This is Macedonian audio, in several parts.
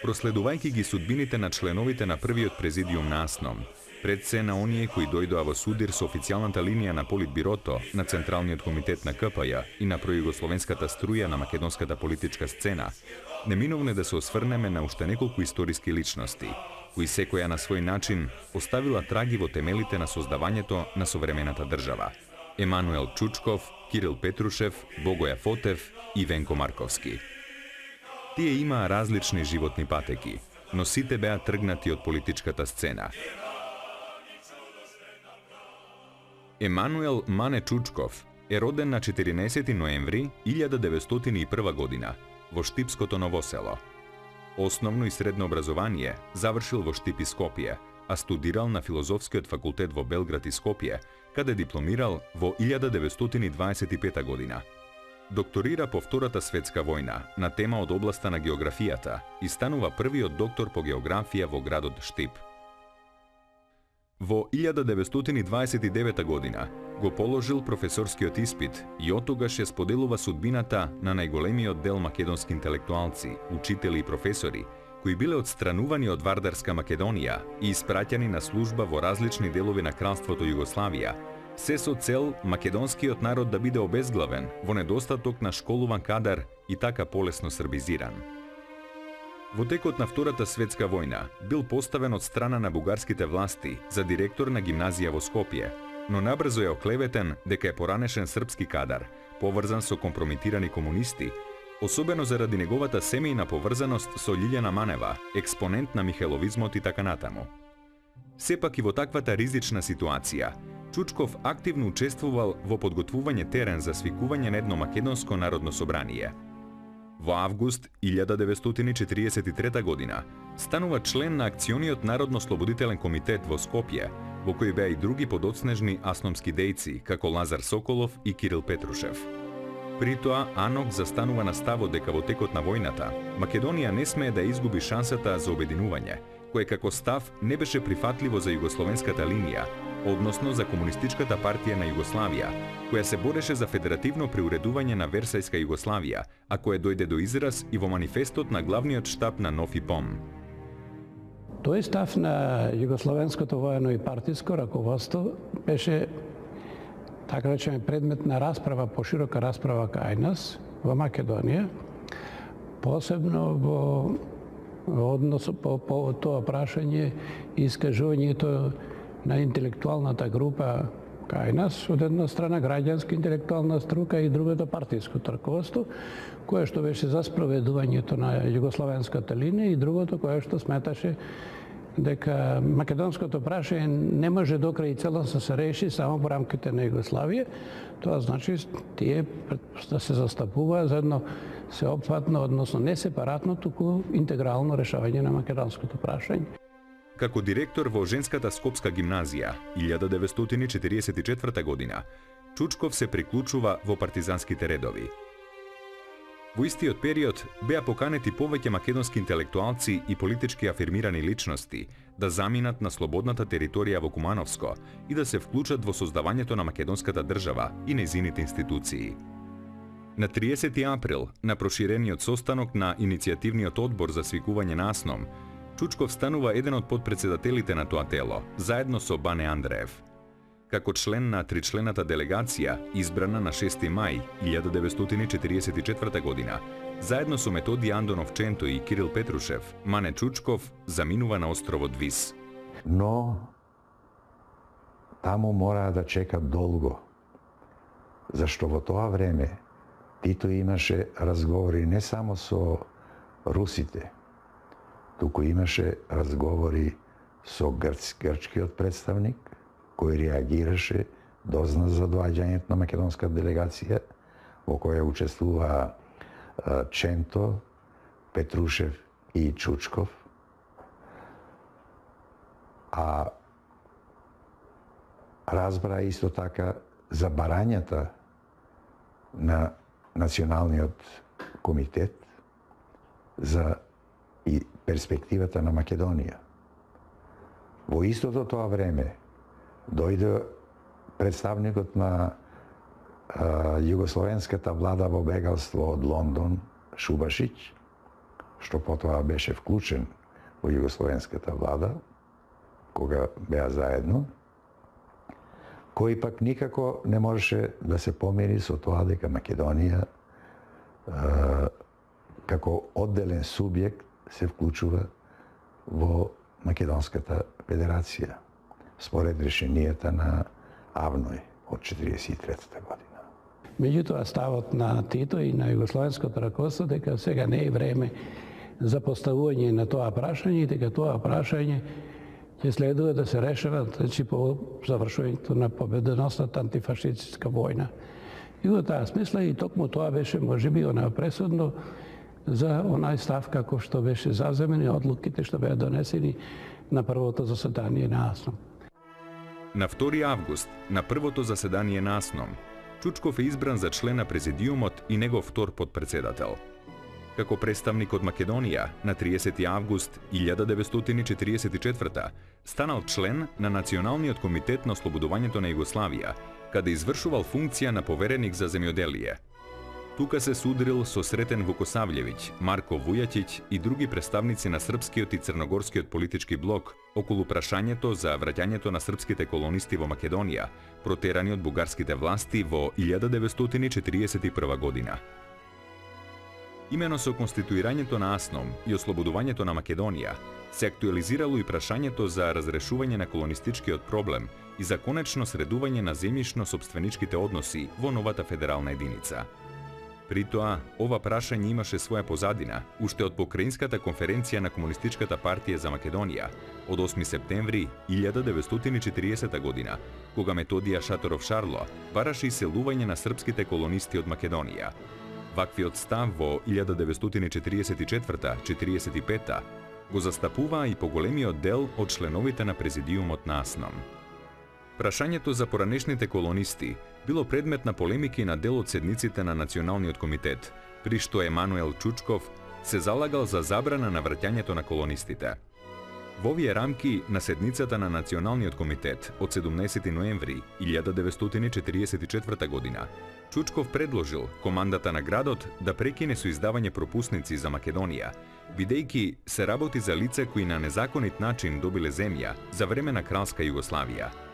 проследувајќи ги судбините на членовите на првиот президиум на АСНОМ, пред се на оние кои дојдоа во судир со официјалната линија на Политбирото, на Централниот комитет на КПЈ и на пројугословенската струја на македонската политичка сцена, неминовно да се осврнеме на уште неколку историски личности, кои секоја на свој начин оставила траги во темелите на создавањето на современата држава. Емануел Чучков, Кирил Петрушев, Богоја Фотев и Венко Марковски. Тие имаа различни животни патеки, но сите беа тргнати од политичката сцена. Емануел Мане Чучков е роден на 14 ноември 1901 година во Штипското Новосело. Основно и средно образование завршил во Штип и Скопје, а студирал на Филозофскиот факултет во Белград и Скопје, каде дипломирал во 1925 година. Докторира по Втората светска војна на тема од областа на географијата и станува првиот доктор по географија во градот Штип. Во 1929 година го положил професорскиот испит и оттогаш ја споделува судбината на најголемиот дел македонски интелектуалци, учители и професори, кои биле отстранувани од Вардарска Македонија и испраќани на служба во различни делови на кралството Југославија, се со цел македонскиот народ да биде обезглавен во недостаток на школуван кадар и така полесно србизиран. Во текот на Втората светска војна бил поставен од страна на бугарските власти за директор на гимназија во Скопје, но набрзо е оклеветен дека е поранешен српски кадар, поврзан со компрометирани комунисти, особено заради неговата семејна поврзаност со Лиљана Манева, експонент на михеловизмот и така натаму. Сепак и во таквата ризична ситуација, Чучков активно учествувал во подготвување терен за свикување на едно македонско народно собрание. Во август 1943 година станува член на акциониот Народно-слободителен комитет во Скопје, во кој беа и други подоцнежни асномски дејци, како Лазар Соколов и Кирил Петрушев. При тоа, АНОК застанува на ставот дека во текот на војната, Македонија не смее да изгуби шансата за обединување, кое како став не беше прифатливо за југословенската линија, односно за Комунистичката партија на Југославија, која се бореше за федеративно приуредување на Версајска Југославија, а кое дојде до израз и во манифестот на главниот штаб на НОФИПОМ. Тој став на југословенското воено и партиско раководство беше, така речеме, предмет на расправа, поширока расправа кај нас во Македонија, посебно во однос по тоа прашање и искажувањето на интелектуалната група кај нас, од една страна граѓанска интелектуална струка и другото партиско раководство, кое што беше за спроведувањето на југословенската линија и другото кое што сметаше дека македонското прашање не може до крај целосно се реши само во рамките на Југославија. Тоа значи тие да се застапува за едно сеопфатно, односно не сепаратно, туку интегрално решавање на македонското прашање. Како директор во Женската скопска гимназија 1944 година, Чучков се приклучува во партизанските редови. Во истиот период беа поканети повеќе македонски интелектуалци и политички афирмирани личности да заминат на слободната територија во Кумановско и да се вклучат во создавањето на македонската држава и нејзините институции. На 30 април, на проширениот состанок на иницијативниот одбор за свикување на АСНОМ, Чучков станува еден од подпредседателите на тоа тело, заедно со Бане Андреев. Како член на тричлената делегација, избрана на 6 мај 1944 година, заедно со Методи Андонов Ченто и Кирил Петрушев, Мане Чучков заминува на островот Вис. Но таму мора да чека долго, зашто во тоа време Тито имаше разговори не само со русите, туку имаше разговори со грчкиот представник, кој реагираше, дозна за доаѓањето на македонска делегација, во која учествува Ченто, Петрушев и Чучков. А разбра исто така за барањата на Националниот комитет за и перспективата на Македонија. Во истото тоа време дојде представникот на југословенската влада во бегалство од Лондон, Шубашиќ, што потоа беше вклучен во југословенската влада, кога беа заедно, кој пак никако не можеше да се помири со тоа дека Македонија како одделен субјект се вклучува во Македонската федерација, според решенијата на АВНОј од 1943 година. Меѓутоа, ставот на Тито и на југословенското раководство дека сега не е време за поставување на тоа прашање и дека тоа прашање ќе следува да се решава по завршувањето на победоносната антифашистичка војна. И во таа смисла и токму тоа беше можеби она пресудно за онај став како што беше заземени одлуките што беа донесени на првото заседание на АСНОМ. На 2 август, на првото заседание на АСНОМ, Чучков е избран за член на президиумот и негов втор потпредседател. Како представник од Македонија, на 30 август 1944 станал член на Националниот комитет на ослободувањето на Југославија, каде извршувал функција на повереник за земјоделие. Тука се судрил со Сретен Вукосављевиќ, Марко Вујатиć и други представници на српскиот и црногорскиот политички блок околу прашањето за враќањето на српските колонисти во Македонија, протерани од бугарските власти во 1941 година. Имено со конституирањето на АСНОМ и ослободувањето на Македонија се актуализирало и прашањето за разрешување на колонистичкиот проблем и за конечно средување на земјишно-сопственичките односи во новата федерална единица. При тоа, ова прашање имаше своја позадина уште од Покраинската конференција на Комунистичката партија за Македонија од 8 септември 1940 година, кога Методија Шаторов Шарло бараше иселување на српските колонисти од Македонија. Ваквиот став во 1944-45 го застапуваа и поголемиот дел од членовите на президиумот на АСНОМ. Прашањето за поранешните колонисти било предмет на полемики на дел од седниците на Националниот комитет, при што Емануел Чучков се залагал за забрана на враќањето на колонистите. Во овие рамки на седницата на Националниот комитет од 17 ноември 1944 година, Чучков предложил командата на градот да прекине со издавање пропусници за Македонија, бидејќи се работи за лица кои на незаконит начин добиле земја за време на Кралска Југославија.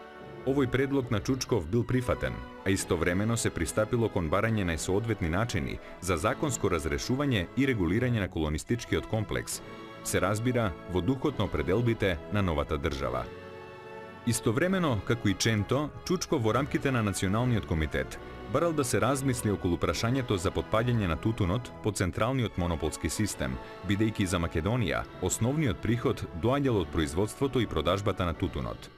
Овој предлог на Чучков бил прифатен, а истовремено се пристапило кон барање на соодветни начини за законско разрешување и регулирање на колонистичкиот комплекс, се разбира во духот на определбите на новата држава. Истовремено, како и Ченто, Чучков во рамките на Националниот комитет барал да се размисли околу прашањето за потпаѓање на тутунот по централниот монополски систем, бидејќи за Македонија основниот приход доаѓал од производството и продажбата на тутунот.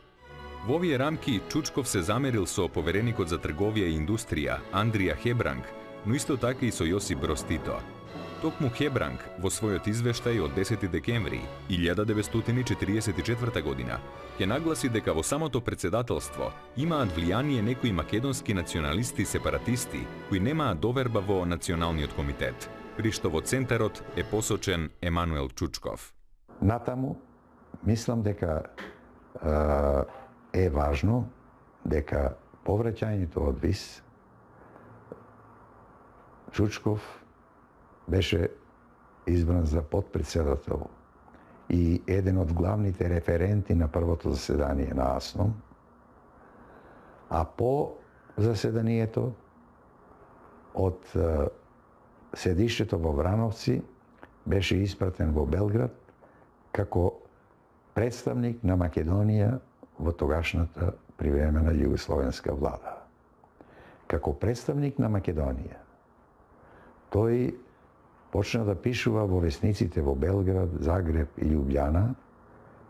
Во овие рамки Чучков се замерил со повереникот за трговија и индустрија Андрија Хебранг, но исто така и со Јосип Броз Тито. Токму Хебранг во својот извештај од 10 декември 1944 година ќе нагласи дека во самото председателство имаат влијание некои македонски националисти-сепаратисти кои немаат доверба во Националниот комитет, при што во центарот е посочен Емануел Чучков. Натаму, мислам дека е важно дека повраќањето од ВИС Чучков беше избран за потпредседател и еден од главните референти на првото заседание на АСНОМ, а по заседанието од седишето во Врановци беше испратен во Белград како представник на Македонија во тогашната привремена југословенска влада. Како представник на Македонија, тој почна да пишува во весниците во Белград, Загреб и Љубљана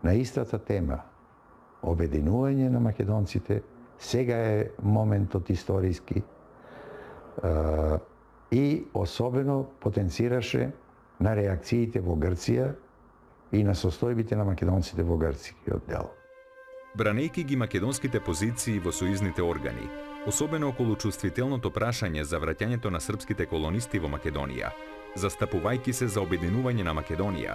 на истата тема – обединување на македонците, сега е моментот историски, и особено потенцираше на реакциите во Грција и на состојбите на македонците во грцкиот дел. Бранејќи ги македонските позиции во сојузните органи, особено околу чувствителното прашање за враќањето на српските колонисти во Македонија, застапувајќи се за обединување на Македонија,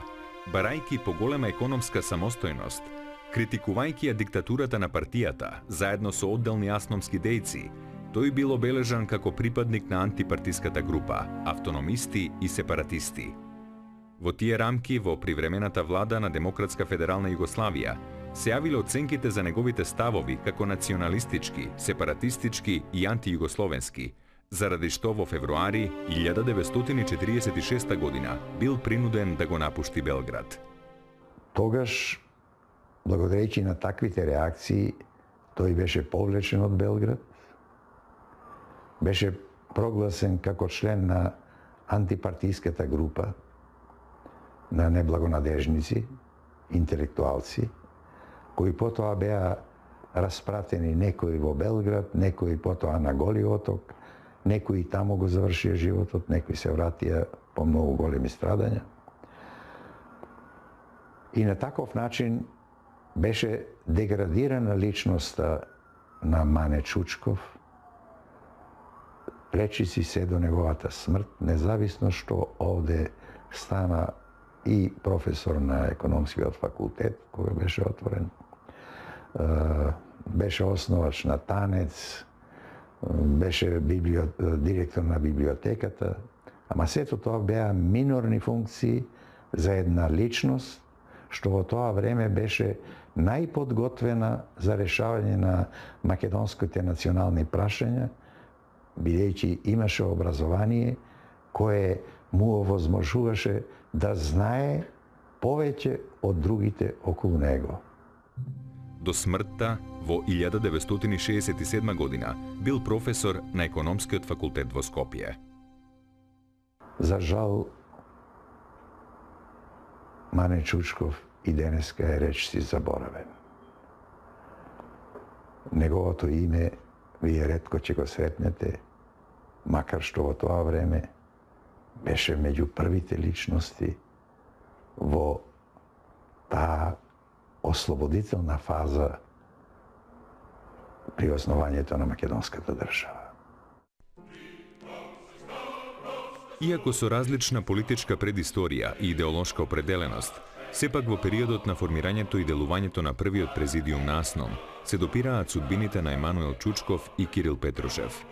барајќи поголема економска самостојност, критикувајќи ја диктатурата на партијата, заедно со одделни асномски дејци, тој бил обележан како припадник на антипартиската група, автономисти и сепаратисти. Во тие рамки, во привремената влада на Демократска федерална Југославија, се јавиле оценките за неговите ставови како националистички, сепаратистички и антијугословенски, заради што во февруари 1946 година бил принуден да го напушти Белград. Тогаш, благодарејќи на таквите реакции, тој беше повлечен од Белград, беше прогласен како член на антипартиската група на неблагонадежници, интелектуалци, кои потоа беа распратени некои во Белград, некои потоа на Голи оток, некои таму го завршија животот, некои се вратија по многу големи страдања. И на таков начин беше деградирана личноста на Мане Чучков, речиси се до неговата смрт, независно што овде стана и професор на економскиот факултет, кога беше отворен, беше основач на Танец, беше директор на библиотеката, ама сето тоа беа минорни функции за една личност, што во тоа време беше најподготвена за решавање на македонските национални прашања, бидејќи имаше образование кое му овозможуваше да знае повеќе од другите околу него. До смртта во 1967 година бил професор на економскиот факултет во Скопје. За жал, Мане Чучков и денеска е речиси заборавен. Неговото име вие ретко ќе го сретнете, макар што во тоа време беше меѓу првите личности во таа ослободителна фаза при основањето на македонската држава. Иако со различна политичка предисторија и идеолошка определеност, сепак во периодот на формирањето и делувањето на првиот президиум на АСНОМ се допираат судбините на Емануел Чучков и Кирил Петрушев.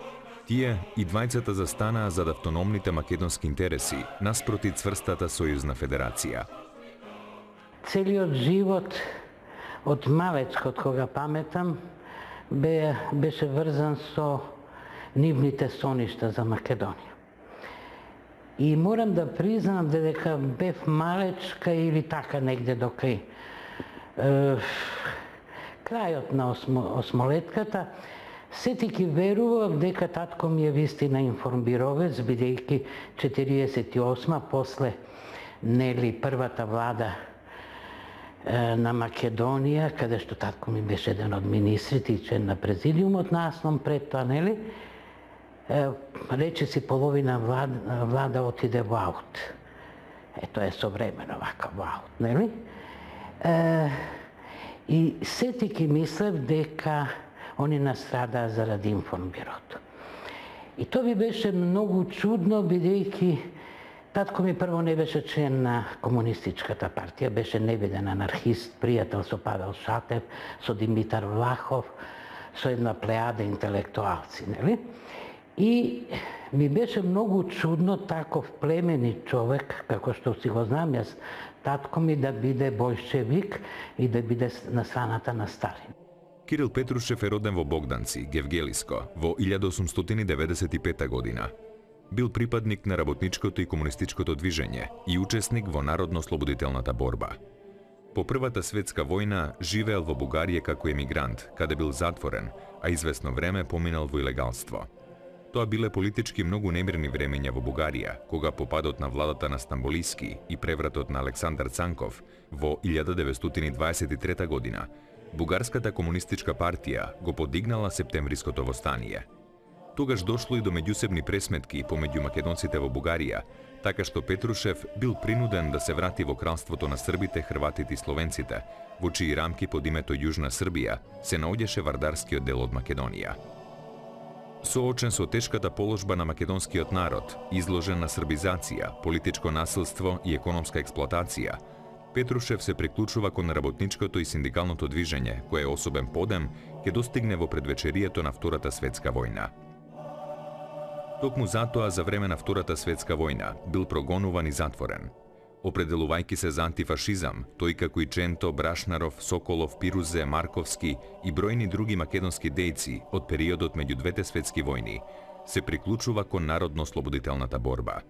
Тие и двајцата застанаа зад автономните македонски интереси наспроти цврстата сојузна федерација. Целиот живот од малечко, од кога паметам, беше врзан со нивните соништа за Македонија. И морам да признам дека бев малечка или така негде до крајот на осмолетката, сетики верував дека татко ми е вистина информбировец, бидејќи 48 после нели првата влада на Македонија, каде што татко ми беше еден од министрите и член на президиумот на АСНОМ пред тоа, нели? Речиси половина влада отиде во аут. Тоа е современо вака во аут, нели? И сетики мислев дека они настрадаа заради информбирото. И тоа би беше многу чудно, бидејќи татко ми прво не беше член на комунистичката партија, беше невиден анархист, пријател со Павел Шатев, со Димитар Влахов, со една плејада интелектуалци, нели? И ми беше многу чудно таков племенит човек, како што си го знам јас, татко ми да биде бојшевик и да биде на страната на Сталин. Кирил Петрушев е роден во Богданци, Гевгелиско, во 1895 година. Бил припадник на работничкото и комунистичкото движење и учесник во народно-слободителната борба. По Првата светска војна живеел во Бугарија како емигрант, каде бил затворен, а известно време поминал во илегалство. Тоа биле политички многу немирни времења во Бугарија, кога по падот на владата на Стамболиски и превратот на Александар Цанков во 1923 година, Бугарската комунистичка партија го подигнала септемвриското востание. Тогаш дошло и до меѓусебни пресметки помеѓу македонците во Бугарија, така што Петрушев бил принуден да се врати во кралството на србите, хрватите и словенците, во чии рамки под името Јужна Србија се наоѓаше вардарскиот дел од Македонија. Соочен со тешката положба на македонскиот народ, изложен на србизација, политичко насилство и економска експлоатација, Петрушев се приклучува кон работничкото и синдикалното движење, кое особен подем ќе достигне во предвечерието на Втората светска војна. Токму затоа за време на Втората светска војна бил прогонуван и затворен. определувајќи се за антифашизам, тој како и Ченто, Брашнаров, Соколов, Пирузе, Марковски и бројни други македонски дејци од периодот меѓу двете светски војни, се приклучува кон народно-слободителната борба.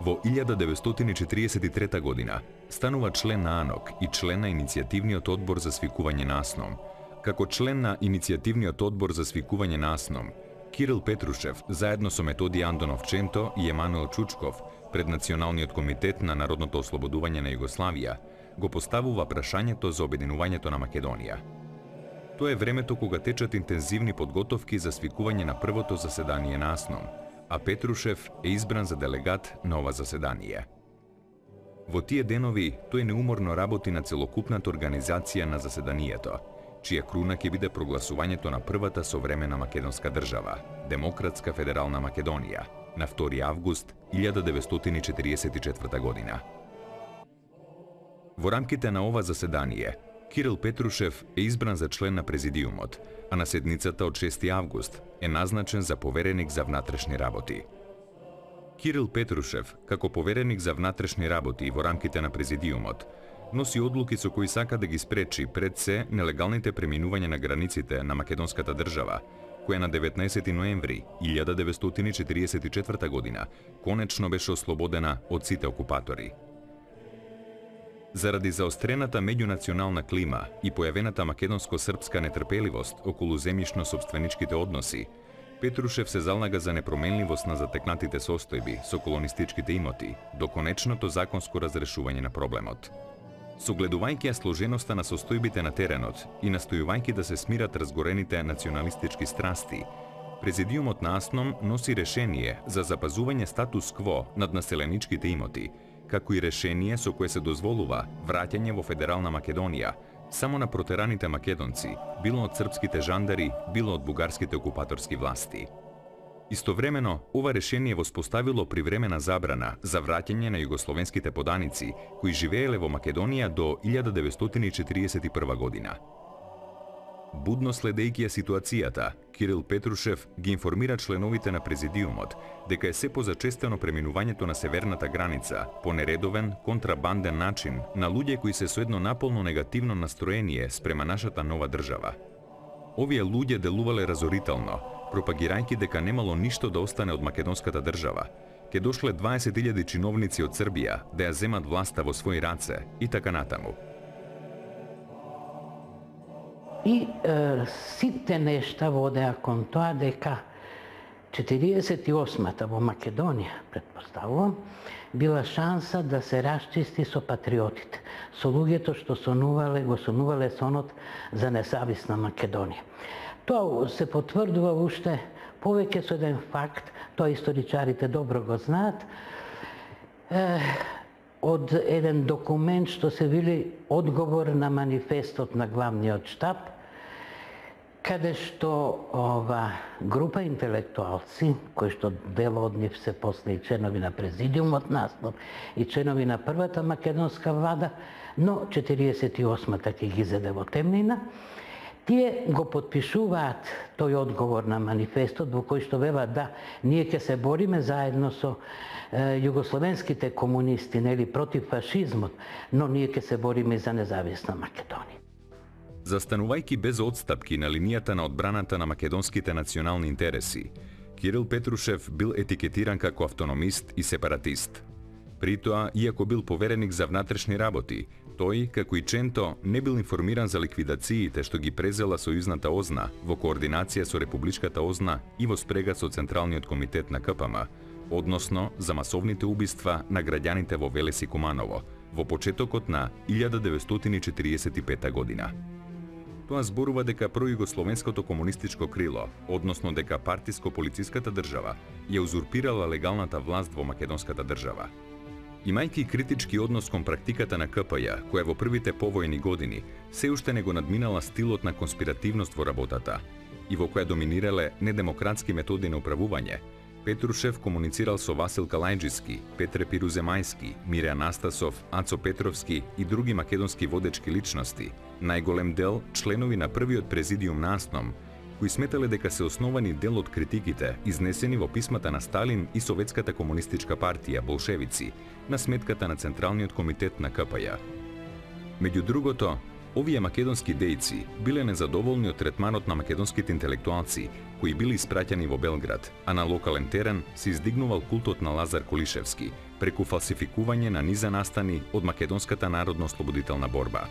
Во 1943 година станува член на АНОК и член на Иницијативниот одбор за свикување на АСНОМ. Како член на Иницијативниот одбор за свикување на АСНОМ, Кирил Петрушев, заедно со Методи Андонов Ченто и Емануел Чучков, пред Националниот комитет на народното ослободување на Југославија, го поставува прашањето за обединувањето на Македонија. Тоа е времето кога течат интензивни подготовки за свикување на првото заседание на АСНОМ, а Петрушев е избран за делегат на ова заседание. Во тие денови тој неуморно работи на целокупната организација на заседанието, чија круна ќе биде прогласувањето на првата современа македонска држава, Демократска федерална Македонија, на 2 август 1944 година. Во рамките на ова заседание, Кирил Петрушев е избран за член на президиумот, а на седницата од 6 август е назначен за повереник за внатрешни работи. Кирил Петрушев, како повереник за внатрешни работи во рамките на президиумот, носи одлуки со кои сака да ги спречи пред се нелегалните преминување на границите на македонската држава, која на 19 ноември 1944 година конечно беше ослободена од сите окупатори. Заради заострената меѓунационална клима и појавената македонско-српска нетрпеливост околу земјишно-сопственичките односи, Петрушев се залага за непроменливост на затекнатите состојби со колонистичките имоти до конечното законско разрешување на проблемот. Согледувајќи ја сложеноста на состојбите на теренот и настојувајќи да се смират разгорените националистички страсти, Президиумот на АСНОМ носи решение за запазување статус кво над населеничките имоти, како и решение со кое се дозволува враќање во Федерална Македонија само на протераните македонци, било од српските жандари, било од бугарските окупаторски власти. Истовремено, ова решение воспоставило привремена забрана за враќање на југословенските поданици кои живееле во Македонија до 1941 година. Будно следејќи ја ситуацијата, Кирил Петрушев ги информира членовите на президиумот дека е се позачестено преминувањето на северната граница по нередовен, контрабанден начин на луѓе кои се со едно наполно негативно настроение спрема нашата нова држава. Овие луѓе делувале разорително, пропагирајќи дека немало ништо да остане од македонската држава. Ке дошле 20.000 чиновници од Србија да ја земат власта во своји раце и така натаму. И сите нешта водеа кон тоа дека 48-та во Македонија, претпоставувам, била шанса да се расчисти со патриотите, со луѓето што го сонувале сонот за независна Македонија. Тоа се потврдува уште повеќе со еден факт, тоа историчарите добро го знаат, од еден документ што се вели одговор на манифестот на главниот штаб, каде што група интелектуалци, кои што дел од нив се после и членови на президиумот наслов и членови на првата македонска влада, но 48-та ќе ги зеде во темнина, тие го потпишуваат тој одговор на манифестот во кој што велат да, ние ќе се бориме заедно со југословенските комунисти, нели, против фашизмот, но ние ќе се бориме за независна Македонија. Застанувајќи без одстапки на линијата на одбраната на македонските национални интереси, Кирил Петрушев бил етикетиран како автономист и сепаратист. При тоа, иако бил повереник за внатрешни работи, тој, како и Ченто, не бил информиран за ликвидациите што ги презела сојузната ОЗНА во координација со Републичката ОЗНА и во спрега со Централниот комитет на КПМ, односно за масовните убиства на граѓаните во Велес и Куманово во почетокот на 1945 година. Тоа зборува дека пројугословенското комунистичко крило, односно дека партиско-полициската држава, ја узурпирала легалната власт во македонската држава. Имајќи критички однос кон практиката на КПЈ, која во првите повојни години се уште не го надминала стилот на конспиративност во работата и во која доминирале недемократски методи на управување, Петрушев комуницирал со Васил Калајџиски, Петре Пируземајски, Мире Анастасов, Ацо Петровски и други македонски водечки личности, најголем дел членови на првиот президиум на АСНОМ, кои сметале дека се основани дел од критиките изнесени во писмата на Сталин и Советската комунистичка партија, болшевици, на сметката на Централниот комитет на КПЈ. Меѓу другото, овие македонски дејци биле незадоволни од третманот на македонските интелектуалци, кои били испраќани во Белград, а на локален терен се издигнувал култот на Лазар Колишевски, преку фалсификување на низа настани од македонската народно-ослободителна борба.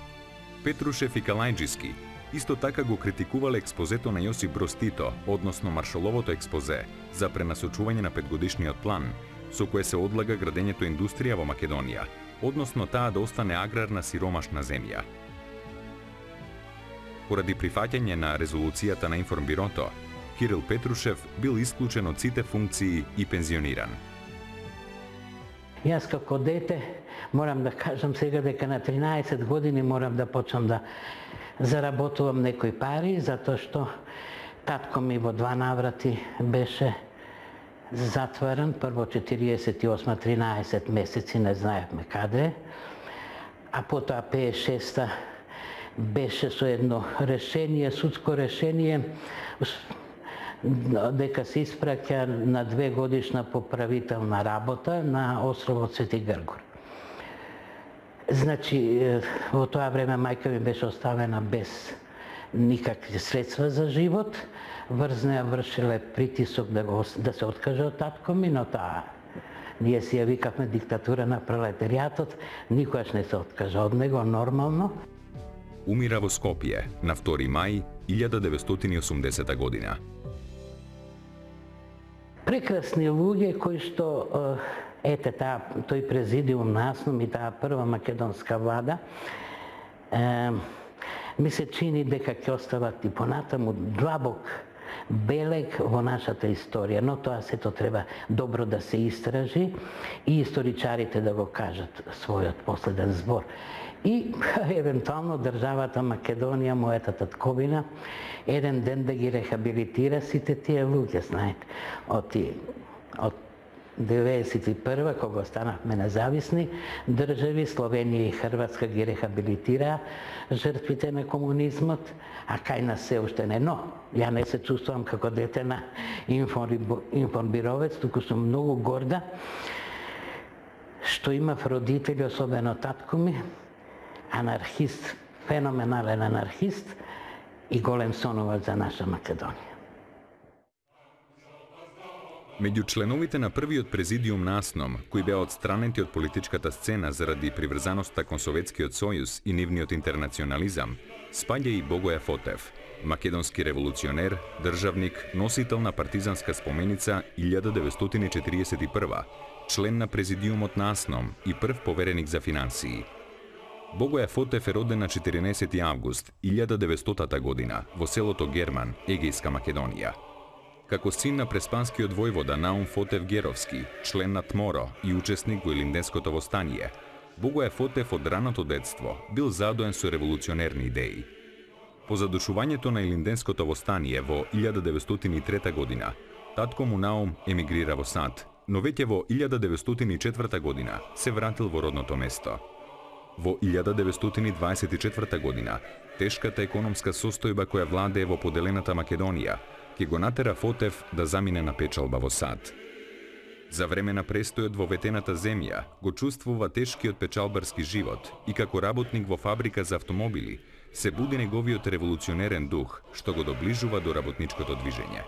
Петрушев и Калајџиски исто така го критикувале експозето на Јосип Броз Тито, односно Маршаловото експозе за пренасочување на петгодишниот план, со кое се одлага градењето индустрија во Македонија, односно таа да остане аграрна сиромашна земја. Поради прифаќање на резолуцијата на Информбирото, Кирил Петрушев бил исклучен од сите функции и пензиониран. Јас како дете морам да кажам сега дека на 13 години морам да почнам да заработувам некои пари, затоа што татко ми во 2 наврати беше затворен, прво 48 13 месеци, не знаевме каде, а потоа 56 беше со едно решение, судско решение, дека се испраќа на 2 годишна поправителна работа на островот Свети Гргор. Значи, во тоа време мајка ми беше оставена без никакви средства за живот. Врз неа вршиле притисок да се откаже од татко ми, но таа ние си ја викавме диктатура на пролетаријатот, никогаш не се откажа од него, нормално. Умира во Скопје на 2 мај 1980 година. Прекрасни луѓе кои што ете тој президиум наснум и таа прва македонска влада ми се чини дека ќе остават и понатаму длабок белег во нашата историја, но тоа сето треба добро да се истражи и историчарите да го кажат својот последен збор. И евентуално државата Македонија, мојата татковина, еден ден да ги рехабилитира сите тие луѓе, знаете. Од 1991, кога станавме независни држави, Словенија и Хрватска ги рехабилитираа жртвите на комунизмот, а кај нас се уште не. Но, ја не се чувствувам како дете на информбировец, туку сум многу горда што имав родители, особено татко ми, анархист, феноменален анархист и голем сонувач за наша Македонија. Меѓу членовите на првиот президиум на АСНОМ, кои беа отстранети од политичката сцена заради приврзаноста кон Советскиот сојуз и нивниот интернационализам, спаѓа и Богоја Фотев, македонски револуционер, државник, носител на партизанска споменица 1941, член на президиумот на АСНОМ и прв повереник за финансии. Богоја Фотев е роден на 14 август 1900 година во селото Герман, Егејска Македонија. Како син на преспанскиот војвода Наум Фотев Геровски, член на ТМОРО и учесник во Илинденското востание, Богоја Фотев од раното детство бил задоен со револуционерни идеи. По задушувањето на Илинденското востание во 1903 година, татко му Наум емигрира во САД, но веќе во 1904 година се вратил во родното место. Во 1924 година, тешката економска состојба која владее во поделената Македонија ќе го натера Фотев да замине на печалба во САД. За време на престојот во ветената земја го чувствува тешкиот печалбарски живот и како работник во фабрика за автомобили се буди неговиот револуционерен дух што го доближува до работничкото движење.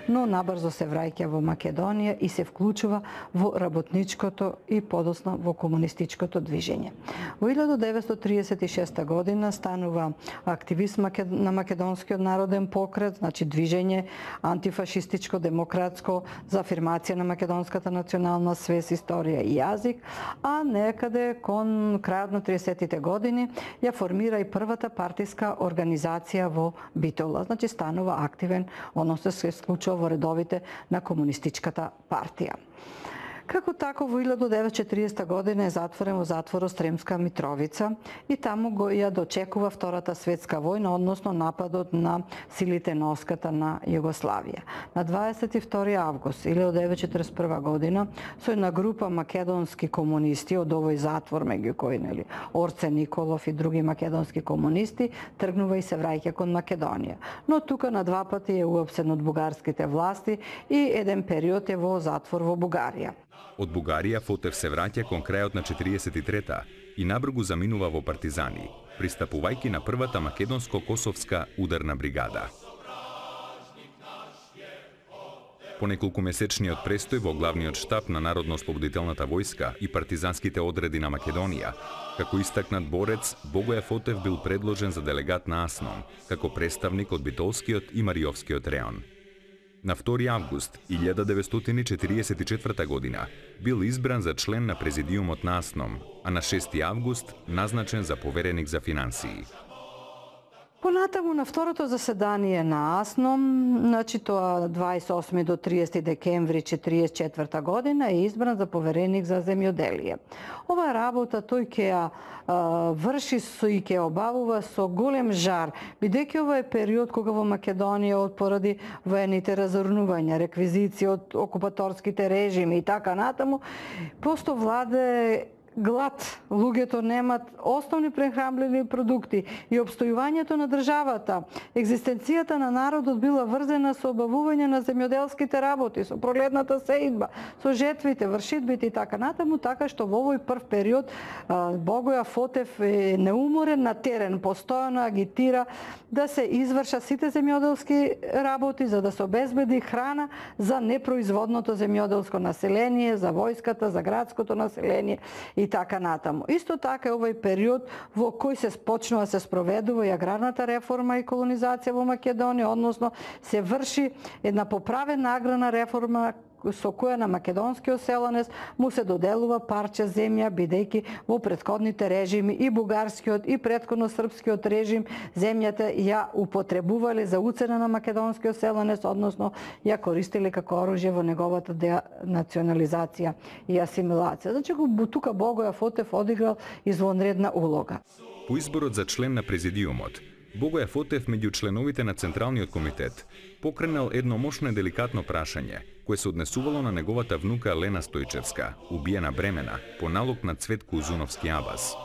Но набрзо се враќа во Македонија и се вклучува во работничкото и подоцна во комунистичкото движење. Во 1936 година станува активист на Македонскиот народен покрет, значи движење антифашистичко, демократско за афирмација на македонската национална свест, историја и јазик, а некаде кон крајот на 30-тите години ја формира и првата партиска организација во Битола, значи станува активен, односно се вклучува во редовите на комунистичката партија. Како тако во 1940 година е затворен во затворот Сремска Митровица и таму го ја дочекува Втората светска војна, односно нападот на силите на оската на Југославија. На 22 август 1941 година со една група македонски комунисти од овој затвор, меѓу кои Орце Николов и други македонски комунисти, тргнува и се враќа кон Македонија. Но тука на два пати е уапсен од бугарските власти и еден период е во затвор во Бугарија. Од Бугарија Фотев се враќа кон крајот на 43-та и набрзо заминува во партизани, пристапувајќи на првата македонско-косовска ударна бригада. По неколкумесечниот престој во главниот штаб на Народно-ослободителната војска и партизанските одреди на Македонија, како истакнат борец, Богоја Фотев бил предложен за делегат на АСНОМ, како представник од Битолскиот и Мариовскиот реон. На 2 август 1944 година бил избран за член на президиумот на АСНОМ, а на 6 август назначен за повереник за финансии. Понатаму на второто заседание на АСНОМ, значи тоа 28 до 30 декември 1944 година, е избран за повереник за земјоделие. Ова работа тој ќе ја врши и ќе обавува со голем жар, бидејќи ова е период кога во Македонија поради воените разорнувања, реквизиција од окупаторските режими и така натаму, просто владе глад, луѓето немат основни прехранливи продукти и обстојувањето на државата, екзистенцијата на народот била врзена со обавување на земјоделските работи, со пролетната сеидба, со жетвите, вршитбите и така натаму, така што во овој прв период Богоја Фотев е неуморен на терен, постојано агитира да се извршат сите земјоделски работи за да се обезбеди храна за непроизводното земјоделско население, за војската, за градското население и така натаму. Исто така е овој период во кој се почнува се спроведува и аграрната реформа и колонизација во Македонија, односно се врши една поправена аграрна реформа со која на македонскиот селанец му се доделува парче земја, бидејќи во претходните режими и бугарскиот и претходно српскиот режим земјата ја употребувале за уцена на македонскиот селанец, односно ја користеле како оружје во неговата денационализација и асимилација. Значи тука Богоја Фотев одиграл извонредна улога. По изборот за член на президиумот, Богоја Фотев меѓу членовите на Централниот комитет покренал едно мощно и деликатно прашање, кое се однесувало на неговата внука Лена Стојчевска, убиена бремена, по налог на Цветко Узуновски Абас.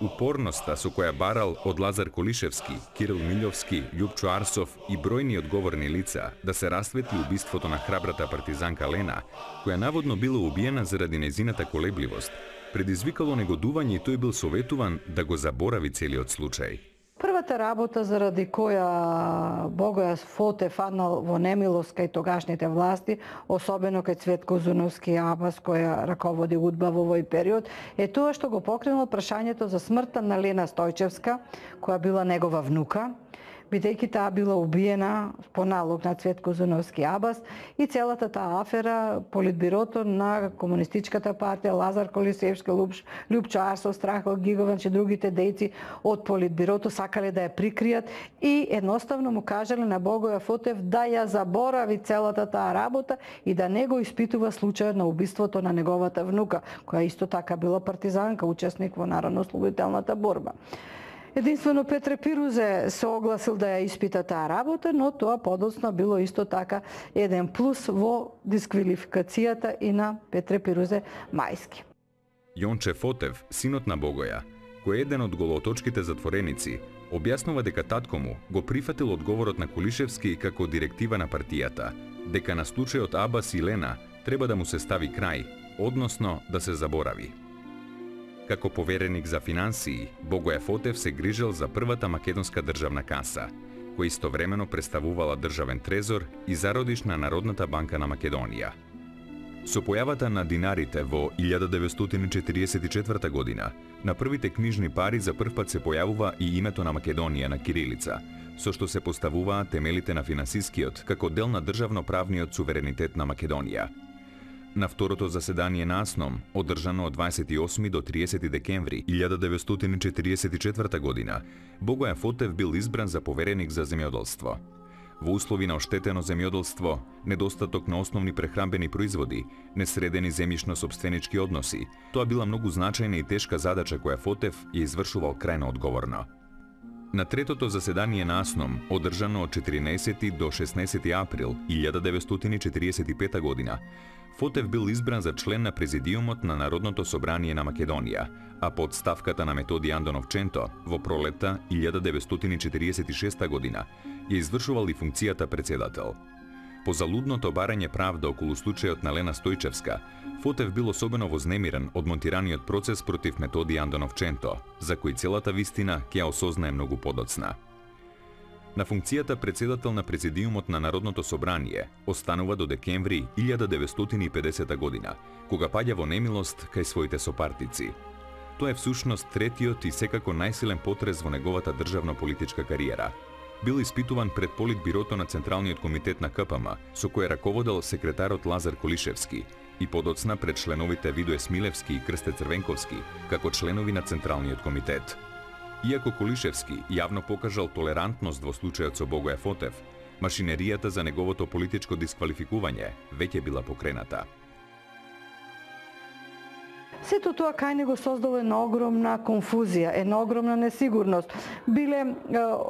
Упорноста со која барал од Лазар Колишевски, Кирил Милјовски, Љупчо Арсов и бројни одговорни лица да се расветли убиството на храбрата партизанка Лена, која наводно била убиена заради нејзината колебливост, предизвикало негодување и тој бил советуван да го заборави целиот случај. Првата работа заради која Богоја Фотев фанал во немилост кај тогашните власти, особено кај Цветко Узуновски Абас, која раководи УДБА во овој период, е тоа што го покренало прашањето за смртта на Лена Стојчевска, која била негова внука, бидејќи таа била убиена по налог на Цветко Узуновски Абас и целата таа афера, политбирото на Комунистичката партија, Лазар Колишевски, Љупчо Арсов, Страхо Гиговач и другите дејци од политбирото сакале да ја прикријат и едноставно му кажале на Богоја Фотев да ја заборави целата таа работа и да не го испитува случајот на убиството на неговата внука, која исто така била партизанка, учесник во Народно-ослободителната борба. Единствено Петре Пирузе се огласил да ја испита таа работа, но тоа подоцна било исто така еден плюс во дисквалификацијата и на Петре Пирузе Мајски. Јонче Фотев, синот на Богоја, кој е еден од голоточките затвореници, објаснува дека татко му го прифатил одговорот на Колишевски како директива на партијата, дека на случајот Абас и Лена треба да му се стави крај, односно да се заборави. Како повереник за финансии, Богоја Фотев се грижел за првата македонска државна каса, која истовремено представувала државен трезор и зародиш на Народната банка на Македонија. Со појавата на динарите во 1944 година, на првите книжни пари за прв пат се појавува и името на Македонија на кирилица, со што се поставуваат темелите на финансискиот како дел на државно-правниот суверенитет на Македонија. На второто заседание на АСНОМ, одржано од 28 до 30 декември 1944 година, Богоја Фотев бил избран за повереник за земјоделство. Во услови на оштетено земјоделство, недостаток на основни прехранбени производи, несредени земјишно-сопственички односи, тоа била многу значајна и тешка задача која Фотев ја извршувал крајно одговорно. На третото заседание на АСНОМ, одржано од 14 до 16 април 1945 година, Фотев бил избран за член на Президиумот на Народното собрание на Македонија, а под ставката на Методи Андонов Ченто во пролетта 1946 година ја извршувал и функцијата председател. По залудното барање правда околу случајот на Лена Стојчевска, Фотев бил особено вознемирен од монтираниот процес против Методи Андонов Ченто, за кој целата вистина ќе ја осознае многу подоцна. На функцијата председател на Президиумот на Народното собрание останува до декември 1950 година, кога паѓа во немилост кај своите сопартици. Тоа е всушност третиот и секако најсилен потрес во неговата државно-политичка кариера. Бил испитуван пред Политбирото на Централниот комитет на КПМ, со кој раководел секретарот Лазар Колишевски, и подоцна пред членовите Видој Смилевски и Крсте Црвенковски, како членови на Централниот комитет. Иако Колишевски јавно покажал толерантност во случајот со Богоја Фотев, машинеријата за неговото политичко дисквалификување веќе била покрената. Сето тоа кај него создало една огромна конфузија, една огромна несигурност. Биле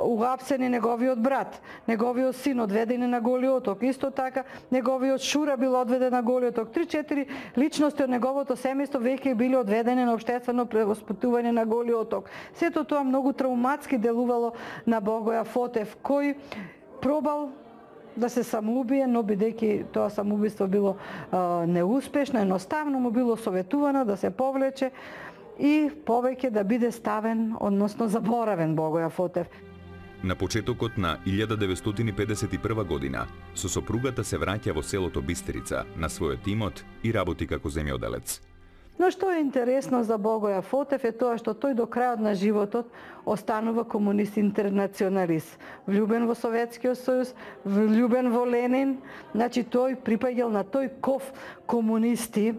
уапсени неговиот брат, неговиот син одведени на Голи оток, исто така неговиот шура бил одведен на Голи оток. 3-4 личности од неговото семејство веќе били одведени на општествено превоспитување на Голи оток. Сето тоа многу травматски делувало на Богоја Фотев, кој пробал да се самоубие, но бидејќи тоа самоубиство било неуспешно, едноставно му било советувано да се повлече и повеќе да биде ставен, односно заборавен Богоја Фотев. На почетокот на 1951 година, со сопругата се враќа во селото Бистрица, на својот имот и работи како земјоделец. Но што е интересно за Богоја Фотев е тоа што тој до крајот на животот останува комунист интернационалист. Влюбен во Советскиот сојуз, влюбен во Ленин, значи тој припаѓал на тој ков комунисти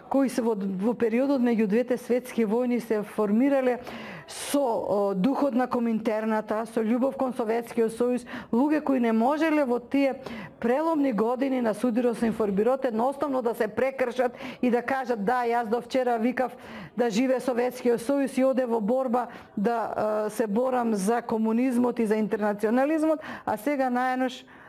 кои се во периодот меѓу двете светски војни се формирале со духот на Коминтерната, со љубов кон Советскиот сојуз, луѓе кои не можеле во тие преломни години на судирот со информбирот едноставно да се прекршат и да кажат да, јас до вчера викав да живе Советскиот сојуз и оде во борба да се борам за комунизмот и за интернационализмот, а сега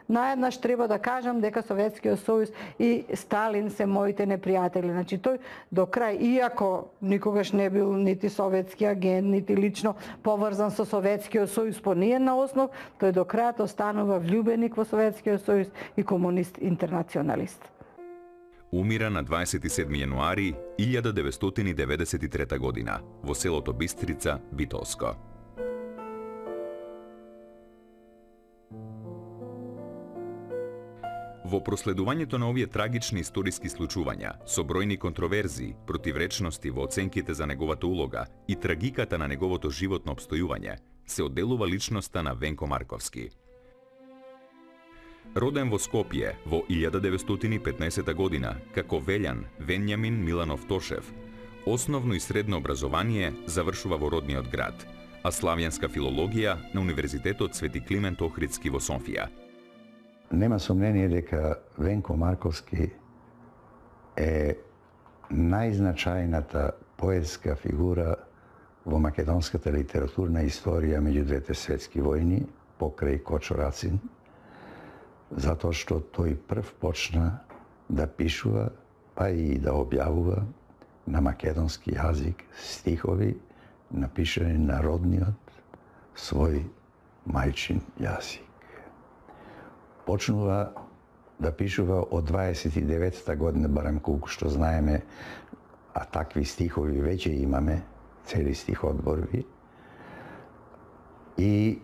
наеднаш треба да кажам дека Советскиот сојуз и Сталин се моите непријатели. Значи тој до крај, иако никогаш не бил нити советски агент, нити лично поврзан со Советскиот сојуз по ниедна основ, тој до крајот останува влюбеник во Советскиот сојуз и комунист интернационалист. Умира на 27 јануари 1993 година во селото Бистрица, Битолско. Во проследувањето на овие трагични историски случувања, со бројни контроверзии, противречности во оценките за неговата улога и трагиката на неговото животно обстојување, се одделува личноста на Венко Марковски. Роден во Скопје во 1915 година, како Велјан Венјамин Миланов Тошев, основно и средно образование завршува во родниот град, а славјанска филологија на Универзитетот Свети Климент Охридски во Софија. Нема сомнение дека Венко Марковски е најзначајната поетска фигура во македонската литературна историја меѓу двете светски војни, покрај Кочо Рацин, затоа што тој прв почна да пишува, па и да објавува на македонски јазик стихови напишани на родниот свој мајчин јазик. Почнува да пишува од 29-та година, барем колку што знаеме, а такви стихови веќе имаме, цели стиходборби. И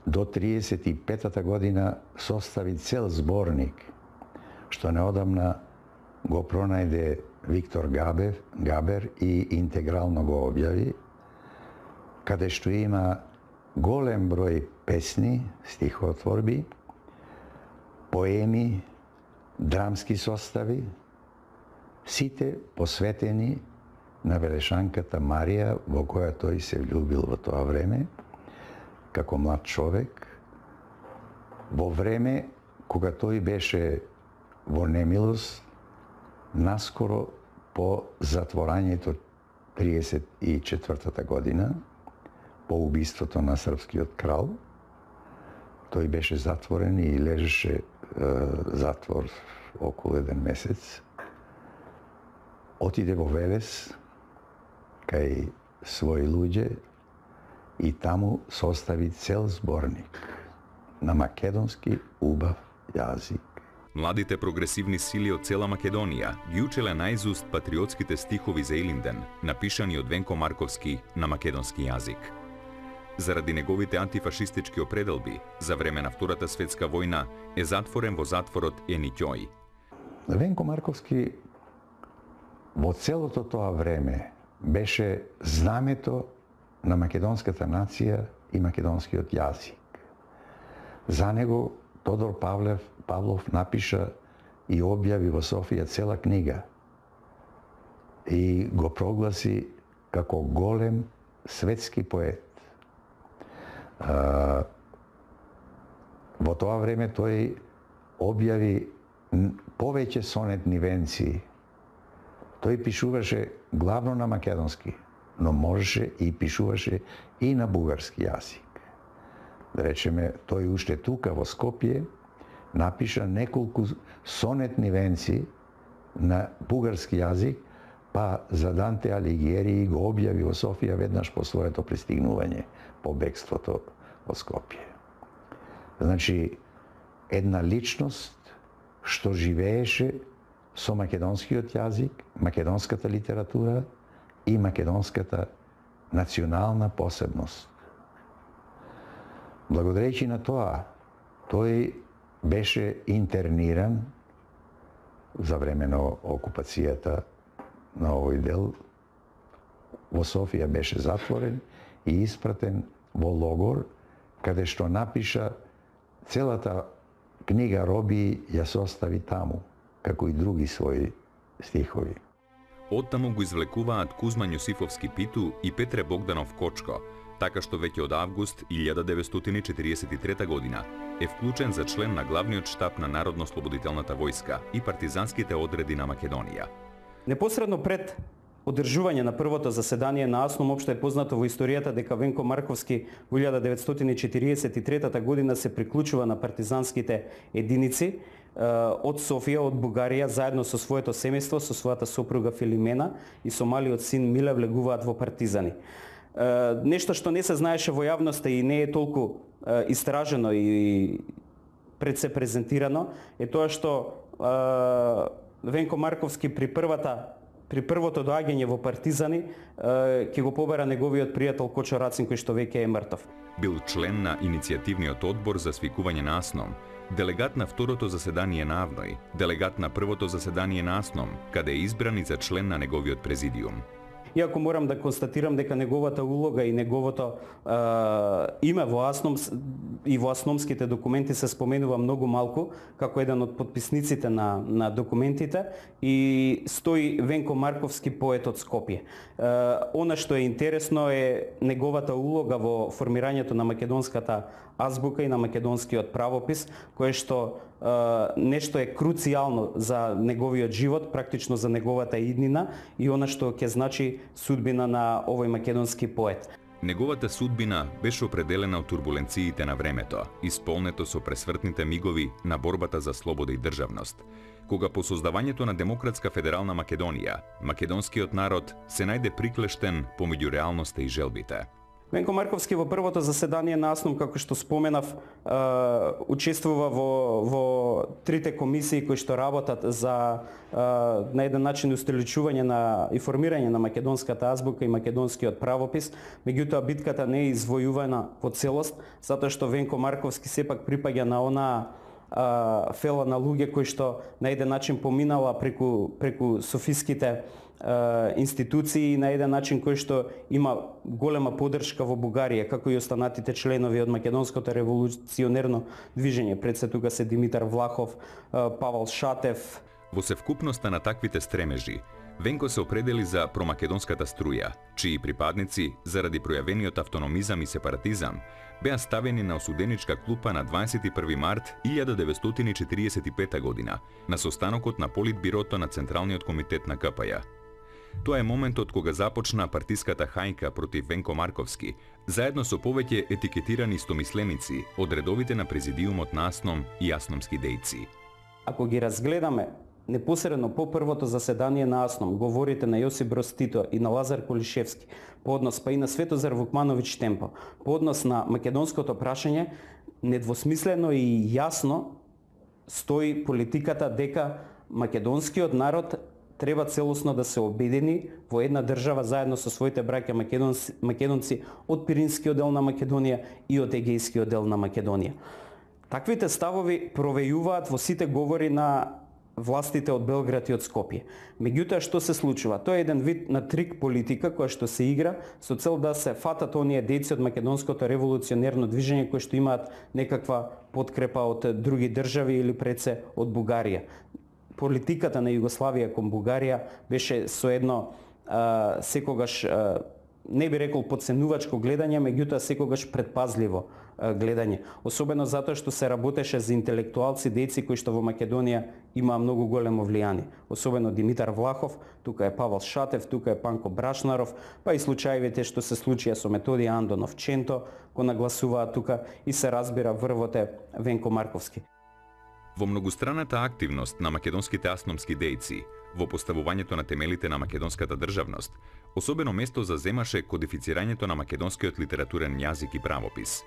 до 35-та година состави цел зборник, што неодамна го пронајде Виктор Габер и интегрално го објави, каде што има голем број песни, стихотворби, поеми, драмски состави, сите посветени на Велешанката Марија, во која тој се влюбил во тоа време, како млад човек, Во време кога тој беше во немилост, наскоро по затворањето 34-та година, по убиството на српскиот крал, тој беше затворен и лежеше затвор околу 1 месец. Отиде во Велес, кај своји луѓе, и таму состави цел зборник на македонски убав јазик. Младите прогресивни сили од цела Македонија ги учеле наизуст патриотските стихови за Илинден, напишани од Венко Марковски на македонски јазик. Заради неговите антифашистички определби, за време на Втората светска војна е затворен во затворот Енитјој. Венко Марковски во целото тоа време беше знамето на македонската нација и македонскиот јазик. За него Тодор Павлов напиша и објави во Софија цела книга и го прогласи како голем светски поет. Во тоа време тој објави повеќе сонетни венци. Тој пишуваше главно на македонски, но можеше и пишуваше и на бугарски јазик. Да речеме, тој уште тука во Скопје напиша неколку сонетни венци на бугарски јазик, па за Данте Алигиери го објави во Софија веднаш по своето пристигнување, по бегството во Скопје. Значи, една личност што живееше со македонскиот јазик, македонската литература и македонската национална посебност. Благодарејќи на тоа, тој беше интерниран за време на окупацијата на овој дел. Во Софија беше затворен и испратен во логор, каде што напиша целата книга Роби ја состави таму, како и други своји стихови. Оттаму го извлекуваат Кузма Њосифовски Питу и Петре Богданов Кочко, така што веќе од август 1943 година е вклучен за член на главниот штаб на Народно-слободителната војска и партизанските одреди на Македонија. Непосредно пред одржување на првото заседание на АСНОМ општо е познато во историјата дека Венко Марковски во 1943 година се приклучува на партизанските единици од Софија, од Бугарија, заедно со своето семејство, со својата сопруга Филимена и со малиот син Миле влегуваат во партизани. Нешто што не се знаеше во јавноста и не е толку истражено и пред се презентирано е тоа што Венко Марковски при првото доаѓање во партизани ќе го побара неговиот пријател Кочо Рацин, кој што веќе е мртов. Бил член на иницијативниот одбор за свикување на АСНОМ, делегат на второто заседание на АВНОј, делегат на првото заседание на АСНОМ, каде е избран и за член на неговиот президиум. Иако морам да констатирам дека неговата улога и неговото име во АСНОМ и во асномските документи се споменува многу малку, како еден од подписниците на документите, и стои Венко Марковски, поет од Скопје. Она што е интересно е неговата улога во формирањето на македонската азбука и на македонскиот правопис, кое што нешто е круцијално за неговиот живот, практично за неговата иднина и она што ќе значи судбина на овој македонски поет. Неговата судбина беше определена од турбуленциите на времето, исполнето со пресвртните мигови на борбата за слобода и државност. Кога по создавањето на Демократска федерална Македонија, македонскиот народ се најде приклештен помеѓу реалноста и желбите. Венко Марковски во првото заседание на АСНОМ, како што споменав, учествува во трите комисии кои што работат за на еден начин устиличување и формирање на македонската азбука и македонскиот правопис. Меѓутоа битката не е извојувана во целост, затоа што Венко Марковски сепак припаѓа на онаа фела на луѓе кои што на еден начин поминала преку софиските институции и на еден начин кој што има голема поддршка во Бугарија, како и останатите членови од македонското револуционерно движење. Пред се тука се Димитар Влахов, Павел Шатев. Во севкупноста на таквите стремежи, Венко се определи за промакедонската струја, чии припадници, заради пројавениот автономизам и сепаратизам, беа ставени на осуденичка клупа на 21 март 1945 година, на состанокот на Политбирото на Централниот комитет на КПЈ. Тоа е моментот кога започна партиската хајка против Венко Марковски, заедно со повеќе етикетирани истомисленици од редовите на президиумот на АСНОМ и асномски дејци. Ако ги разгледаме непосредно по првото заседание на АСНОМ, говорите на Јосип Броз Тито и на Лазар Колишевски, по однос па и на Светозар Вукмановиќ Темпо, по однос на македонското прашање, недвосмислено и јасно стои политиката дека македонскиот народ треба целосно да се обедини во една држава заедно со своите браќа македонци од Пиринскиот дел на Македонија и од Егејскиот дел на Македонија. Таквите ставови провејуваат во сите говори на властите од Белград и од Скопје. Меѓутоа, што се случува? Тоа е еден вид на трик политика која што се игра со цел да се фатат оние дејци од македонското револуционерно движење кои што имаат некаква подкрепа од други држави или предсе од Бугарија. Политиката на Југославија кон Бугарија беше со едно секогаш не би рекол подценувачко гледање, меѓутоа секогаш предпазливо гледање. Особено затоа што се работеше за интелектуалци, дејци кои што во Македонија имаа многу големо влијание. Особено Димитар Влахов, тука е Павел Шатев, тука е Панко Брашнаров, па и случаевите што се случија со Методија Андонов Ченто, кој нагласуваа тука и се разбира врвот е Венко Марковски. Во многустранната активност на македонските асномски дејци, во поставувањето на темелите на македонската државност, особено место заземаше кодифицирањето на македонскиот литературен јазик и правопис.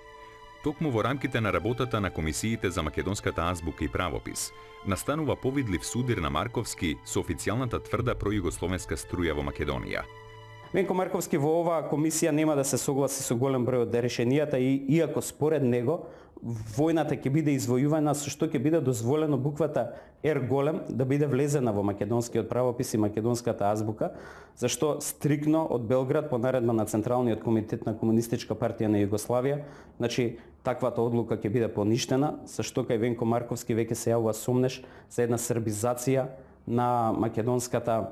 Токму во рамките на работата на комисиите за македонската азбука и правопис, настанува повидлив судир на Марковски со официјалната тврда пројугословенска струја во Македонија. Венко Марковски во оваа комисија нема да се согласи со голем број од решенијата и иако според него војната ќе биде извојувана, со што ќе биде дозволено буквата Р голем да биде влезена во македонскиот правопис и македонската азбука, зашто стрикно од Белград по наредба на Централниот комитет на Комунистичка партија на Југославија, значи таквата одлука ќе биде поништена, зашто кај Венко Марковски веќе се јавува сомнеш за една србизација на македонската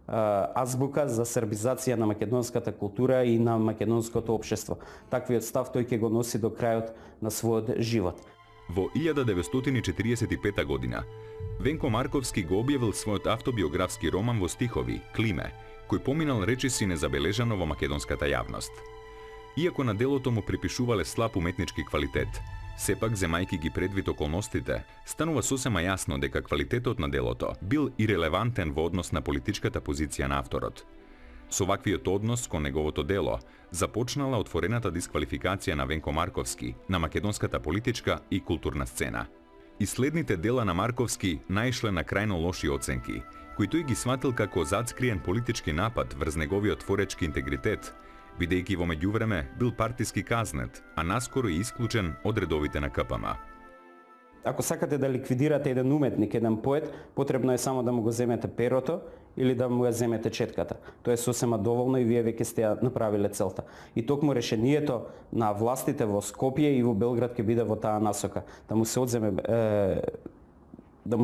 азбука, за србизација на македонската култура и на македонското општество. Таквиот став тој ќе го носи до крајот на својот живот. Во 1945 година Венко Марковски го објавил својот автобиографски роман во стихови Климе, кој поминал речиси незабележано во македонската јавност. Иако на делото му припишувале слаб уметнички квалитет, сепак, земајки ги предвид околностите, станува сосема јасно дека квалитетот на делото бил ирелевантен во однос на политичката позиција на авторот. Со ваквиот однос кон неговото дело започнала отворената дисквалификација на Венко Марковски на македонската политичка и културна сцена. И следните дела на Марковски наишле на крајно лоши оценки, кои тој ги сватил како зацкриен политички напад врз неговиот творечки интегритет, бидејќи во меѓувреме бил партиски казнет, а наскоро и исклучен од редовите на КПМ. Ако сакате да ликвидирате еден уметник, еден поет, потребно е само да му го земете перото или да му ја земете четката. Тоа е сосема доволно и вие веќе сте ја направиле целта. И токму решението на властите во Скопје и во Белград ќе биде во таа насока, да му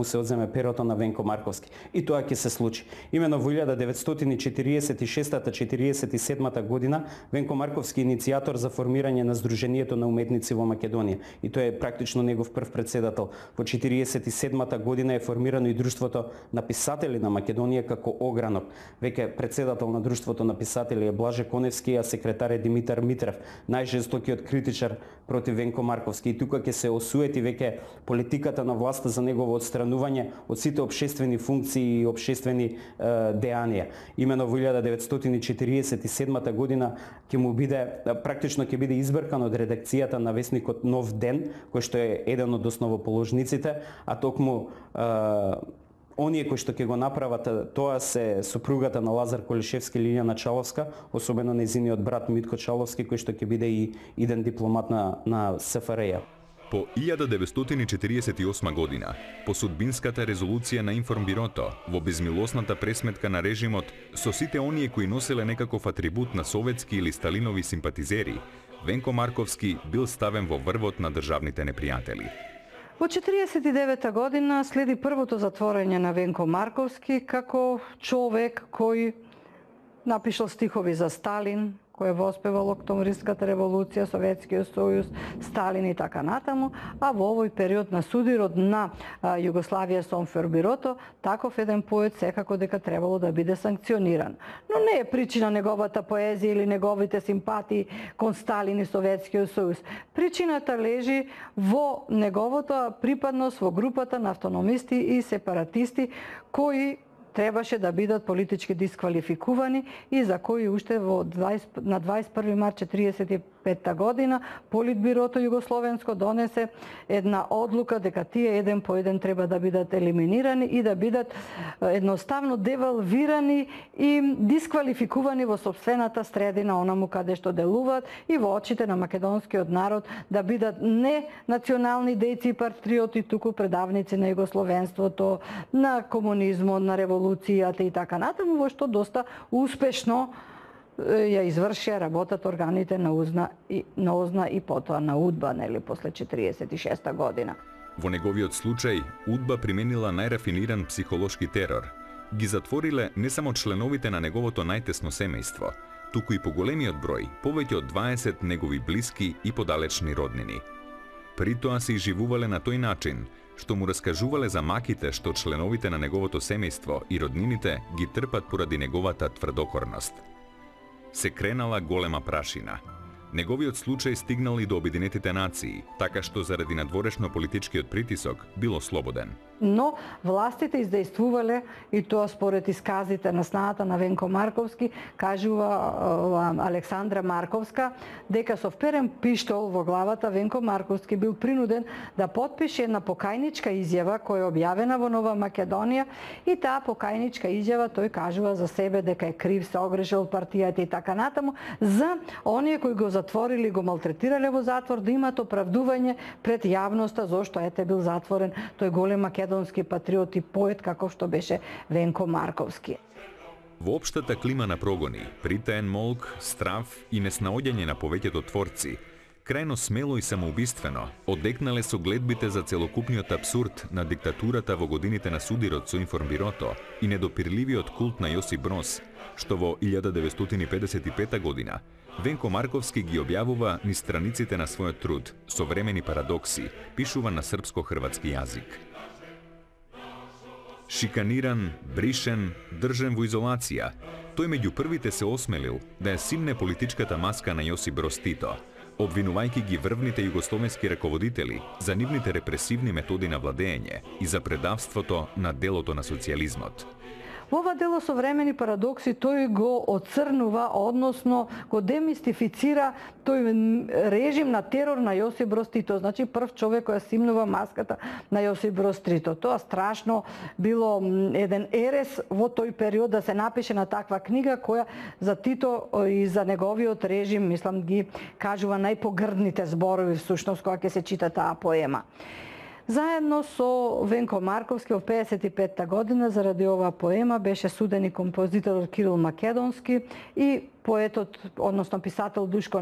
се одземе перото на Венко Марковски. И тоа ќе се случи. Имено во 1946-47 година Венко Марковски е иницијатор за формирање на Сдруженијето на уметници во Македонија. И тој е практично негов прв председател. Во 1947 година е формирано и Друштвото на писатели на Македонија како огранок. Веќе председател на Друштвото на писатели е Блаже Коневски, а секретар е Димитар Митрев, најжестокиот критичар против Венко Марковски. И тука ќе се осуети веќе политиката на власта за негово отстранување од сите општествени функции и општествени дејанија. Имено во 1947 година ќе му биде практично ќе биде избркан од редакцијата на весникот Нов ден, кој што е еден од основоположниците, а токму оние кои што ќе го направат тоа се сопругата на Лазар Колишевски, Лилјана Чаловска, особено нејзиниот брат Митко Чаловски, кој што ќе биде и иден дипломат на СФРЈ. По 1948 година, по судбинската резолуција на Информбирото, во безмилосната пресметка на режимот со сите оние кои носеле некаков атрибут на советски или сталинови симпатизери, Венко Марковски бил ставен во врвот на државните непријатели. Во 1949 година следи првото затворање на Венко Марковски како човек кој напишал стихови за Сталин, кој е воспевал Октомвриската револуција, Советскиот сојуз, Сталин и така натаму, а во овој период на судирот на Југославија со информбирото, таков еден поет секако дека требало да биде санкциониран. Но не е причина неговата поезија или неговите симпатии кон Сталин и Советскиот сојуз. Причината лежи во неговата припадност во групата на автономисти и сепаратисти кои требаше да бидат политички дисквалификувани и за кои уште на 21 март 1945 година Политбирото Југословенско донесе една одлука дека тие еден по еден треба да бидат елиминирани и да бидат едноставно девалвирани и дисквалификувани во сопствената средина онаму каде што делуваат и во очите на македонскиот народ да бидат не национални дејци и патриоти, туку предавници на југословенството, на комунизмот, на револуцијата и така натаму, во што доста успешно ја извршија работата органите на ОЗНА и потоа на УДБА, нели, после 1946 година. Во неговиот случај, УДБА применила најрафиниран психолошки терор. Ги затвориле не само членовите на неговото најтесно семејство, туку и поголемиот број, повеќе од 20 негови блиски и подалечни роднини. При тоа се изживувале на тој начин, што му раскажувале за маките што членовите на неговото семејство и роднините ги трпат поради неговата тврдокорност. Се кренала голема прашина. Неговиот случај стигнал и до Обединетите нации, така што заради надворешно политичкиот притисок било слободен. Но властите издействувале, и тоа според исказите на снаата на Венко Марковски, кажува Александра Марковска, дека со вперен пиштол во главата Венко Марковски бил принуден да потпише една покајничка изјава која е објавена во Нова Македонија и таа покајничка изјава тој кажува за себе дека е крив, се огрешил партијата и така натаму, за оние кои го затворили, го малтретирале во затвор, да имат оправдување пред јавноста зошто ете бил затворен тој голем македонски патриот и поет каков што беше Венко Марковски. Во општата клима на прогони, притаен молк, страв и неснаоѓање на повеќето творци, крајно смело и самоубиствено одекнале со гледбите за целокупниот апсурд на диктатурата во годините на судирот со информбирото и недопирливиот култ на Јосип Броз, што во 1955 година Венко Марковски ги објавува низ страниците на својот труд Современи парадокси, пишуван на српско-хрватски јазик. Шиканиран, бришен, држен во изолација, тој меѓу првите се осмелил да ја симне политичката маска на Јосип Броз Тито, обвинувајќи ги врвните југословенски раководители за нивните репресивни методи на владење и за предавството на делото на социјализмот. Во ова дело Современи парадокси тој го оцрнува, односно го демистифицира тој режим на терор на Јосип Броз Тито. Значи прв човек кој симнува маската на Јосип Броз Тито. Тоа страшно било еден ерес во тој период да се напише на таква книга која за Тито и за неговиот режим, мислам, ги кажува најпогрдните зборови всушност кога ќе се чита таа поема. Заедно со Венко Марковски во 55 година заради оваа поема беше суден и композиторот Кирил Македонски и поетот, односно писател Душко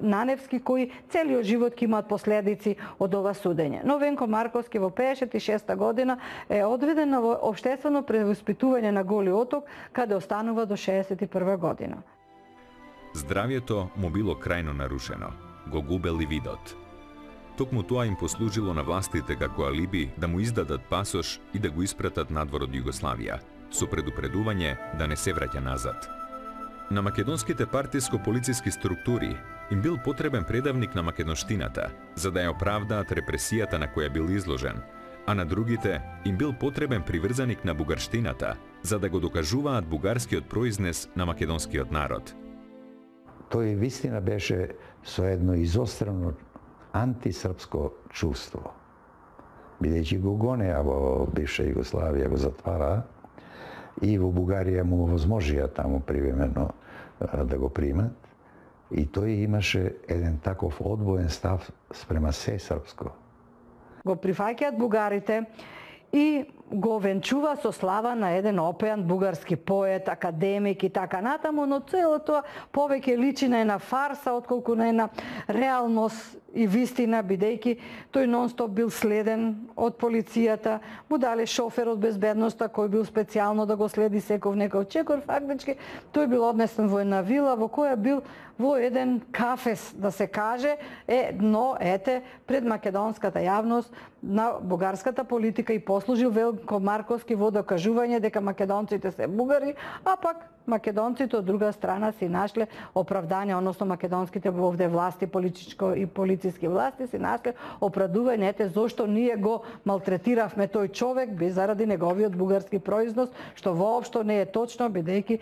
Наневски, кои целиот живот ќе имаат последици од ова судење. Но Венко Марковски во 56 година е одведен на општествено превоспитување на Голи Оток, каде останува до 61 година. Здравјето му било крајно нарушено. Го губел и видот. Токму тоа им послужило на властите како алиби да му издадат пасош и да го испратат надвор од Југославија, со предупредување да не се враќа назад. На македонските партиско-полициски структури им бил потребен предавник на македонштината, за да ја оправдаат репресијата на која бил изложен, а на другите им бил потребен приврзаник на бугарштината, за да го докажуваат бугарскиот произнес на македонскиот народ. Тој вистина беше со едно изострено антисрпско чувство. Бидејќи го гонеа во бивша Југославија, го затвара и во Бугарија му овозможија таму привремено да го примат. И тој имаше еден таков одвоен став спрема се српско. Го прифаќаат бугарите и го венчува со слава на еден опеан бугарски поет, академик и така натаму, но цело тоа повеќе личи на една фарса отколку на една реалност и вистина, бидејќи тој нон-стоп бил следен од полицијата, му дале шофер од безбедноста кој бил специјално да го следи секој некој чекор, фактички тој бил однесен во една вила во која бил во еден кафес, да се каже, но ете пред македонската јавност на бугарската политика и послужил Венко Марковски во докажување дека македонците се бугари, а пак македонците од друга страна си нашле оправдање, односно македонските овде власти, политичко и полициски власти си нашле оправдување зошто ние го малтретиравме тој човек без заради неговиот бугарски произнос, што воопшто не е точно, бидејќи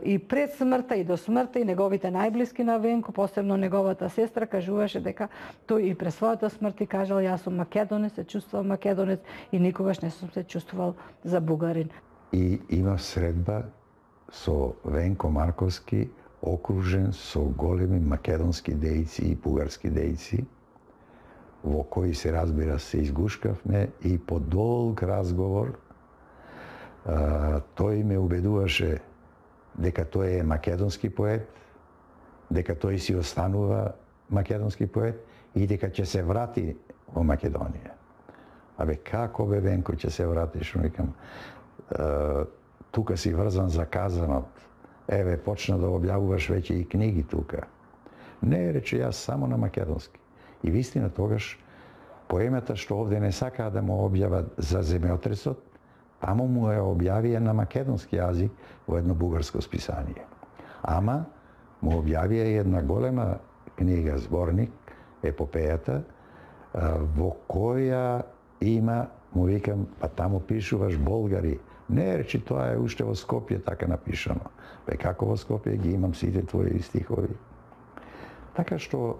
и пред смртта и до смртта и неговите најблиски на Венко, посебно неговата сестра, кажуваше дека тој и пред својата смрт и кажал јас сум македонец, се чувствувал македонец и никогаш не сум се чувствувал за бугарин. И има средба со Венко Марковски, окружен со големи македонски дејци и бугарски дејци, во кои се разбира се изгушкавме и по долг разговор тој ме убедуваше дека тој е македонски поет, дека тој си останува македонски поет и дека ќе се врати во Македонија. Абе, како бе, Венко, ќе се вратиш? Викам, тука си врзан за казанот. Еве, почна да објавуваш веќе и книги тука. Не, рече, јас само на македонски. И вистина тогаш, поемата што овде не сакаа да му објават за земјотресот, таму му е објавија на македонски јазик во едно бугарско списание. Ама, му објавија и една голема книга, зборник, епопејата, во која има, му викам, па таму пишуваш болгари. Не, речи, тоа е уште во Скопје така напишано. Бе, како во Скопје ги имам сите твои стихови. Така што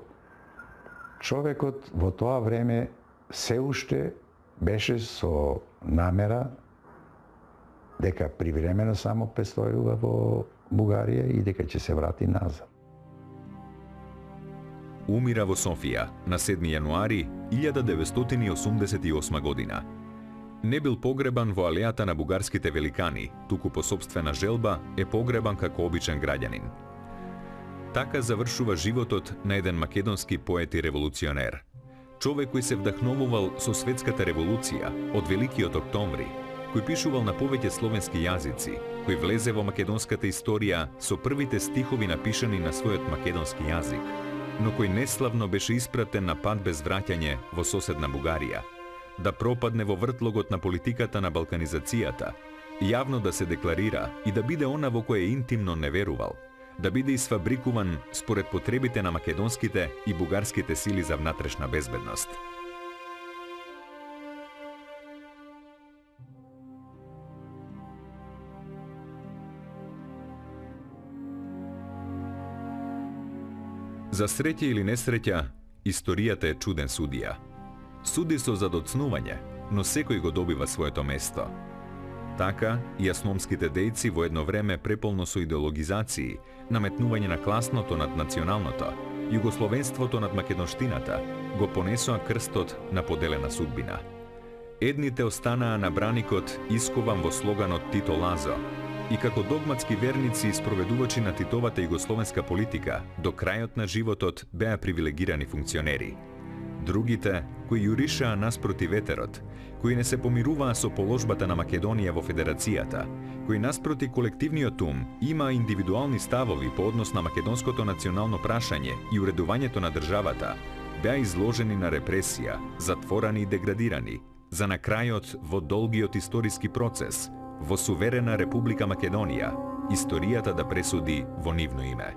човекот во тоа време се уште беше со намера дека привремено само престојува во Бугарија и дека ќе се врати назад. Умира во Софија на 7 јануари 1988 година. Не бил погребан во алејата на бугарските великани, туку по сопствена желба е погребан како обичен граѓанин. Така завршува животот на еден македонски поет и револуционер. Човек кој се вдахновувал со светската револуција од Великиот октомври, кој пишувал на повеќе словенски јазици, кој влезе во македонската историја со првите стихови напишани на својот македонски јазик, но кој неславно беше испратен на пат без враќање во соседна Бугарија, да пропадне во вртлогот на политиката на балканизацијата, јавно да се декларира и да биде она во кое интимно не верувал, да биде исфабрикуван според потребите на македонските и бугарските сили за внатрешна безбедност. За среќа или несреќа, историјата е чуден судија. Суди со задоцнување, но секој го добива своето место. Така, и асномските дејци во едно време преполно со идеологизации, наметнување на класното над националното, југословенството над македонштината, го понесоа крстот на поделена судбина. Едните останаа на браникот искован во слоганот Тито Лазо, и како догматски верници и спроведувачи на Титовата југословенска политика, до крајот на животот беа привилегирани функционери. Другите, кои јуришаа наспроти ветерот, кои не се помируваа со положбата на Македонија во Федерацијата, кои наспроти колективниот ум имаа индивидуални ставови по однос на македонското национално прашање и уредувањето на државата, беа изложени на репресија, затворани и деградирани, за на крајот во долгиот историски процес, во суверена Република Македонија, историјата да пресуди во нивно име.